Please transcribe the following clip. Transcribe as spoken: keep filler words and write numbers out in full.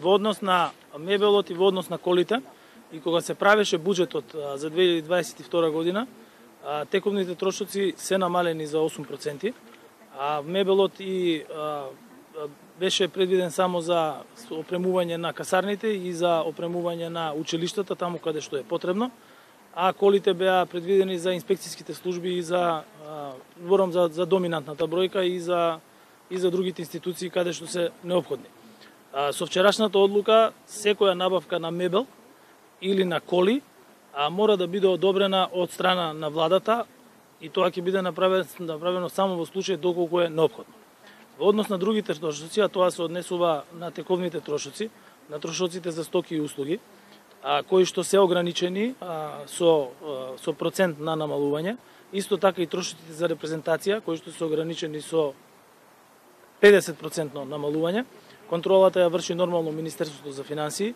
во однос на мебелот и во однос на колите, и кога се правеше буџетот за две илјади дваесет и втора година, тековните трошоци се намалени за осум проценти, а мебелот и а, беше предвиден само за опремување на касарните и за опремување на училиштата таму каде што е потребно, а колите беа предвидени за инспекцијските служби и за зборам за, за доминантната бројка и за и за другите институции каде што се неопходни. А, со вчерашната одлука секоја набавка на мебел или на коли а, мора да биде одобрена од страна на владата и тоа ќе биде направено, направено само во случај доколку е неопходно. Во однос на другите трошоци, а тоа се однесува на тековните трошоци, на трошоците за стоки и услуги, а, кои што се ограничени а, со, а, со процент на намалување, исто така и трошоците за репрезентација, кои што се ограничени со педесет проценти намалување. Контролата ја врши нормално Министерството за финансии,